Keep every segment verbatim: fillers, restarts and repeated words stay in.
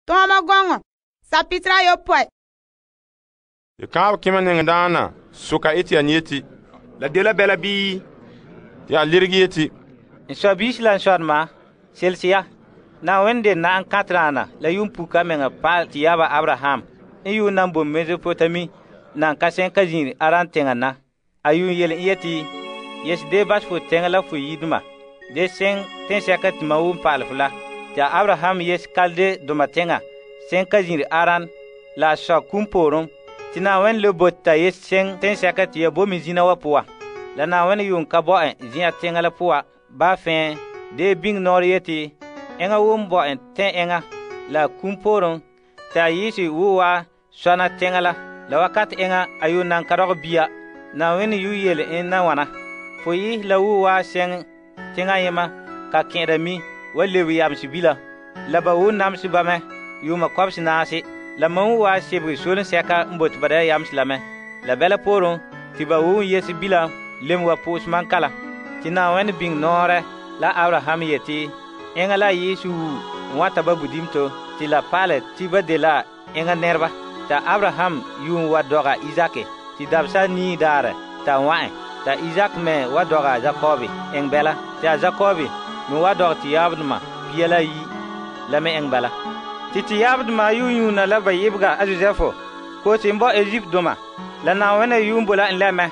Tɔɔma gɔŋɔ sapitira ayopɔe. Te kaanbɛ kema niŋdaana soka Etiɛn yeti, la dela bɛla bii? Te a leregɛ yeti, N sɔbiisi la n sɔdema, selese ya. Na'ayenɛ de na'am kanteraana la yuunpuka meŋa pa'alɛ te yaaba Abraham n yuun nan boe Mesopotami nan ka se'em ka zin'ire Aran teŋa na. A yuun yele en yeti, yes dee basɛ fo teŋa la fo yidoma dee seŋ teŋsɛka te mam woo pa'alɛ fo la. Te Abraham yes Kalde doma teŋa seŋ ka zin'ire Aran la a sɔ kum pooren te Na'ayenɛ le bote ta yes seŋ teŋsɛka te ya bo me zina wa poan. La Na'ayenɛ yuun ka bo en zen'an teŋa la poan ba fɛɛ dee biŋe nɔɔrɛ yeti enŋa woo bo en tɛn enŋa la kum pooren te a yi'ise wo wa sɔna teŋa la la wakati enŋa a yuun nan ka dɔgɛ bia. Na'ayenɛ yuun yele en na wana, fo yi la wo wa seŋ teŋa yema ka kɛn'ɛra mi wa lebe yamse bila. La ba woo namse ba mɛ yuuma kɔbese naase. La mam wo wa sebege solen sɛka n bote ba da yamse la mɛ. La bɛla pooren te ba woo yese bila lem wa po'ose man kala. Te Na'ayenɛ biŋe nɔɔrɛ la Abraham yeti enŋa la Yesu n wa ta ba budimto te la pa'alɛ te ba dela enŋa nɛreba. Ta Abraham yuun wa dɔga Izaki te dabesa nii daarɛ ta wa'en. Ta Izak me wa dɔga Jakobi eŋ bɛla. Te a Jakobi me wa dɔgɛ te yaabdoma pia la yi la me eŋ bala. Te te yaabdoma yuun yuuna la ba yebega a Josefo ko te n bo Egypt doma. La Na'ayenɛ yuun bo la en lɛ mɛ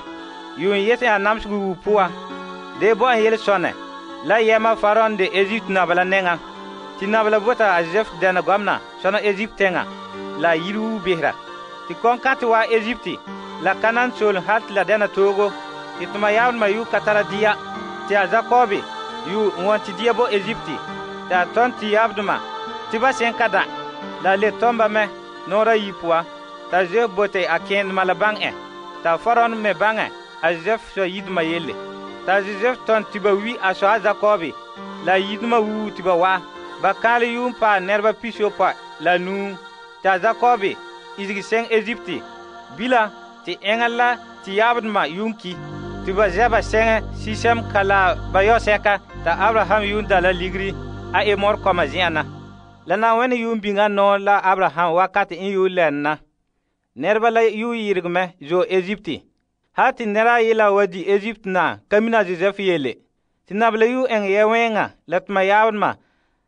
yuun yete a namsegɔ wu poan dee bo en yelesɔnɛ la yɛma Faron de Egypt naba la nɛŋa. Te naba la bota a Josef dɛna gɔmena sɔna Egypt teŋa la yiri wu behera. Te kɔnkante wa Egypt la kanan solen hal te la dɛna toogo te toma yaabdoma yu ka tara dia. Te a Jakobi yu n wɔn te dia bo Egypt te a tɔn te yaabdoma te ba seŋ ka da la le tɔmba mɛ nɔɔra yi poan. Ta Josef bote a kẽendoma la baŋ en. Ta Faron me baŋɛ a Josef sɔ yidoma yelle. Ta Josef tɔn te ba wi a sɔ a Jakobi la yidoma wuu te ba wa. Ba kãale yuun paɛ nɛreba pisopɔe la nuu. Ta Jakobi isege seŋ Egypt bila te enŋa la te yaabdoma yuun ki. Te ba zɛba seŋɛ sisɛm ka la ba yɔsɛka ta Abraham yuun da la ligiri a Emor kɔma zen'an na. La Na'ayenɛ yuun biŋa nɔɔ la Abraham wakati n yuun lɛn na. Nɛreba la yuun yɩrege mɛ zo Egypt. Ha te nɛra ayela wa di Egypt na ka mina Josef yele. Te naba la yuun eŋɛ yɛ wẽnga la toma yaabdoma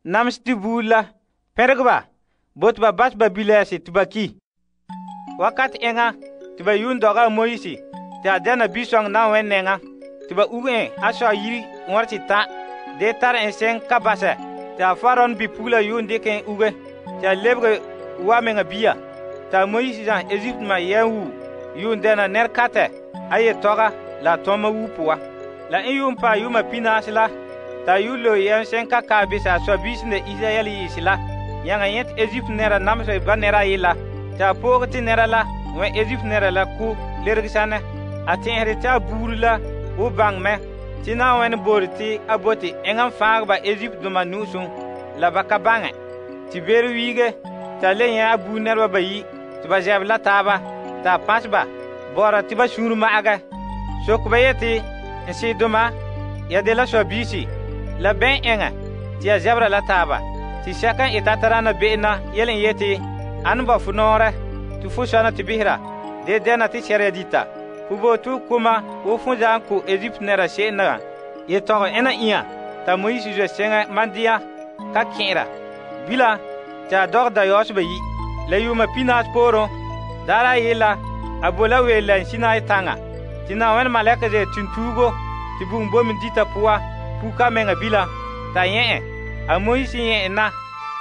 namse te buuri la pɛregɛ ba bo te ba bas ba bilɛɛse te ba ki. Wakati enŋa te ba yuun dɔga a Moise te a dɛna bisɔŋ Na'ayenɛ nɛŋa te ba uge en a sɔ yiri ŋɔr te ta dee tara en seŋ ka basɛ te a Faron bipugela yuun dɩk en uge te a lebege wa meŋa bia. Ta Moise zãs Egypt ma yɛn wu yuun dɛna nɛrekatɛ a yetɔga la a tɔma wu poa. La n yuun paɛ yuma pinaase la ta yuun lo yɛn seŋ ka kaa bese a sɔbiisi de Israyɛl yiisi la yãga yẽt Egypt nɛra namse ba nɛra ayela. Ta a pooge te nɛra la wẽ Egypt nɛra la ko lerege sanɛ. A tẽesde te a buuri la wo baŋ mɛ te Na'ayenɛ boore te a bote enŋa n fãag ba Egypt doma nu'usum la ba ka baŋɛ. Te beere wiige ta le yẽ a buuri nɛreba bayi te ba zɛb la taaba ta a pãs ba bɔra te ba sũur ma'agɛ. Sok ba yeti n sɩɩdoma ya de la sɔbiisi la bɛn eŋɛ te ya zɛbra la taaba. Te sɛka n eta taraana be'ena yele n yeti ãn ba fo nɔɔrɛ te fo sɔna te bisera dee dɛna te sɛrya dita. Fo bo tu kuma wo fõ zaa n ko Egypt nɛra se'em na yetɔgɔ ẽna ĩa ta Moise zo seŋɛ mandia ka kẽera. Bila te a dɔg dayɔɔse bayi la yuma pinaas pooren daara ayela a bo la weel la Sinai taŋa. Te Na'ayenɛ malɛka ze tuntuugo te bugum bomin dita poa puka meŋa bila ta yẽ en. A Moise yẽ en na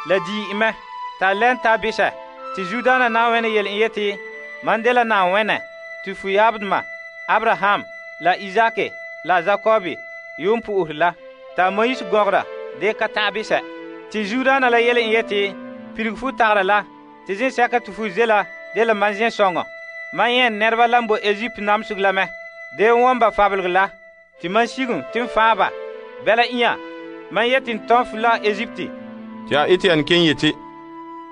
la dii en mɛ ta lɛn ta bisɛ. Te Zudaana Na'ayenɛ yele en yeti man dela Na'ayenɛ te fo yaabdoma Abraham la Izaki la Jakobi yuun po'ohere la. Ta Moise gɔgera dee ka ta'an bisɛ. Te Zudaana la yele en yeti pirigi fo tagra la te zẽsɛka te fo ze la de la man zẽ-sõŋɔ. Man yẽn nɛreba la n bo Egypt namseg la mɛ. Dee n wɔn ba fabelge la tɩ man sigem tɩ n fãa ba bɛla ĩa man yet n tõn fu la Egypte. Tɩ a Etiɛn ken yeti,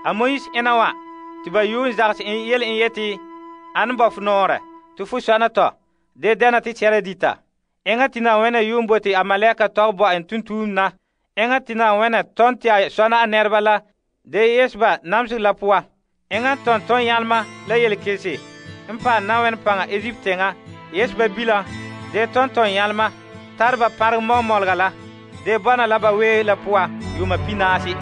a Moise ẽna wã tɩ ba yuun zags n yel n yeti ãn ba fo noorɛ tɩ fo sɔna tɔ dee dɛna tɩ tɛra dita. Eŋa tɩ Na'ayenɛ yuun bote a malɛka tɔg bo en tuntuum na. Eŋa tɩ Na'ayenɛ tõnd tɩ a sɔna a nɛreba la de yesba namseg la poa. Enga tonton yalma la yelkelse n paɛ Na'ayenɛ paŋa Egypt teŋa yesba bila de tonton yalma tarba pareg mɔmɔlega la de bɔna la ba wee la poa yuma pinaasi.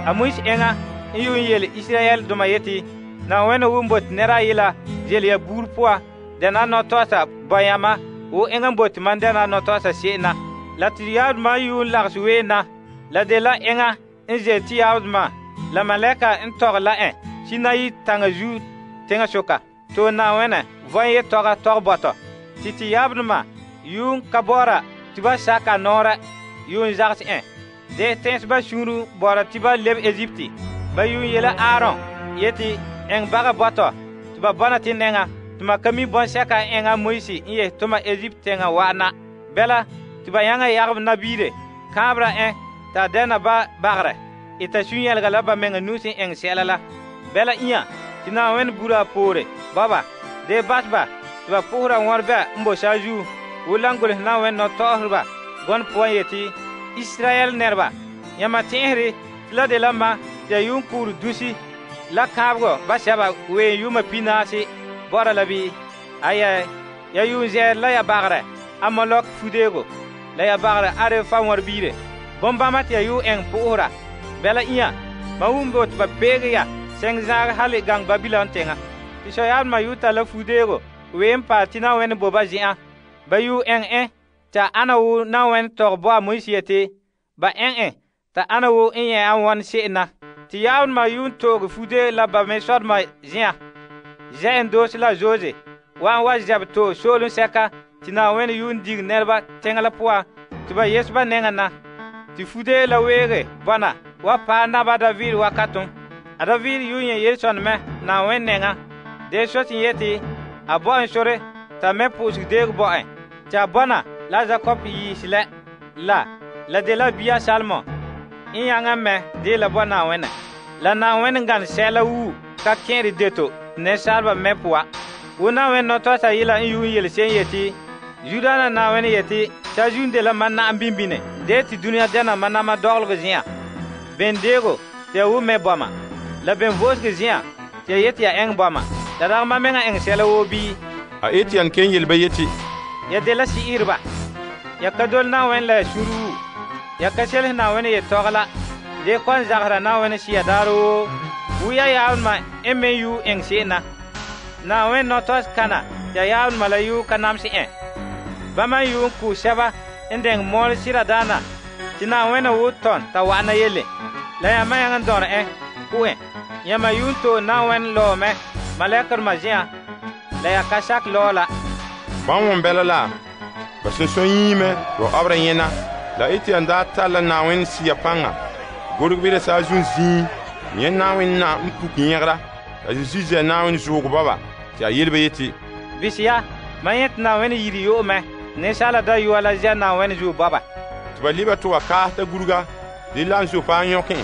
A Moise enga n yuun yele Israel doma yeti Na'ayenɛ won bote nɛra yela jele ya buur poa dɛna nɔtɔɔsa bɔyama wo enga n bote man dɛna nɔtɔɔsa se'em na. La te yaabdoma yuun lagse ween na la de la enga n ze te yaabdoma la malɛka n tɔgɛ la en Sinayi taŋa zuo teŋa soka. To Na'ayenɛ vɔn ye tɔga tɔg bɔtɔ. Te te yaabdoma yuun ka bɔra te ba saka nɔɔrɛ yuun zagse en. De tɛnse ba suunru bɔra te ba lebe Egypte. Ba yuun yela Aaron yeti eŋ baga bɔtɔ te ba bɔna te nɛŋa te ma ka mi bɔnsɛka eŋa Moise n ye toma Egypte teŋa wa'ana. Bɛla te ba yaŋa yageb nabiire kãabra en ta dɛna ba bagerɛ. Ita sun-yɛlega la ba meŋa nu sẽn eŋ sɛla la. Bɛla inya te Na'ayenɛ bura a poore baba de bas ba te ba pohera wɔrebɛ n bo saazuo wo lan golehɛ Na'ayenɛ nɔtɔgɔhereba gɔnɔ poan yeti Israel nɛreba yãma tẽesre te la de la ma te ya yuun kuure dusi la kãabegɔ ba sɛba ween yuma pinaasi bɔra la bii? Aya, ya yuun zɛɛre la ya bagerɛ a Molok fudeego la ya bagerɛ Arefa wɔrebiire. Bombama te ya yuun eŋ pohera. Bɛla inya ma wum bo te ba peege ya sẽng zãag hal gaŋ Babilon teŋa. Tɩ soyaabdoma yʋ tara la fudeego ween paɛ tɩ Na'ayenɛ bo ba zen'an. Ba yʋ ɛŋ ẽ t'a ana wo Na'ayenɛ tɔg bo a Moise yeti ba ɛŋ ẽ t'a ana wo n yẽ a wɔn se'em na. Tɩ yaabdoma yʋ n tooge fude la ba me sɔdoma zẽa. Zɛ n doose la Zoze wa n wa zɛb to soolem sɛka tɩ Na'ayenɛ yʋ n dig nɛreba teŋa la poa tɩ ba yes ba nɛŋa na. Tɩ fude la weege bɔna wa paɛ naba David wakatum. A David yuun yẽ yel-sõn mɛ Na'ayenɛ nɛŋa. De sot n yeti a bo en sore t'a me pʋʋsg deeg bo en tɩ a bɔna la Jakob yiis lɛ la la de la bia Salmon n yãngã mɛ dee la bo Na'ayenɛ. La Na'ayenɛ n gane sɛla wuu ka kẽere deto nensaalba mɛ poa. Wo Na'ayenɛ nɔtɔɔsa yela n yuun yele se'em yeti Zudaana Na'ayenɛ yeti saazuun de la mam na'am bimbine dee tɩ dũniyã dɛna mam nama dɔgelg zĩa. Ben deego tɩ ya wʋ mɛ bɔma la ben voosg zĩa tɩ ya yeti ya ɛŋ bɔma. La dag ma meŋa ɛŋ sɛla woo bii? A Etiyan ken yelba yeti Ya de la si'irba. Ya ka dol Na'ayenɛ la ya sũru. Ya ka sels Na'ayenɛ yetɔg la. De kɔn zagsra Na'ayenɛ siya daar woo. Wu ya yaabdoma n me yu ɛŋ se'em na. Na'ayenɛ nɔtɔɔs kana tɩ ya yaabdoma la yu ka namse ẽ. Bãmba n yu n kʋʋ sɛba n dɛŋ mɔɔl sɩda daana tɩ Na'ayenɛ wʋ tɔn t'a wa'ana yelle. La yãmba yãng n dɔr ẽ pʋgẽ. Yãmba yu n toog Na'ayenɛ lɔɔmɛ malɛkerdoma zĩa la ya ka sak lɔɔ la. bãmb wõn bɛla la ba sẽn sõn yĩime wa abra yẽna la Etiyan daa tar la Na'ayenɛ siya pãnga gorg bɩ da saazuun zĩig yẽ Na'ayenɛ na n puk yẽgra la Zeezi zɛ Na'ayenɛ zoog baba tɩ a yelba yeti Bɩs ya, mam yẽ tɩ Na'ayenɛ yiri yo'omɛ nensaala dayɔa la zɛ Na'ayenɛ zuo baba. tɩ ba liba tɩ wa kaas t'a gurga dɩ la n zo faa yõkẽ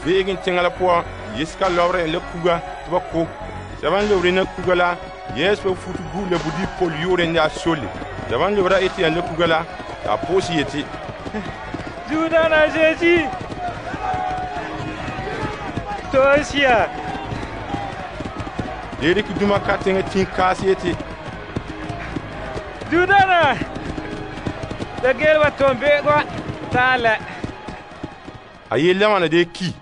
veeg n tẽngã la pʋgã yeska lɔbrẽ la kuga tɩ ba ko. Sɛba n lobre na kuga la yes pa futu gu la budi pol yore ne a sole. Sɛba n lobra Etiyan la kuga la t'a pʋʋs yeti Zudaana Zeezi toosia. de dɩk dũma ka tẽngã tĩig kaas yeti Zudaana da geel wa tõon be'eg wa t'a lɛ. a yella wãna de ki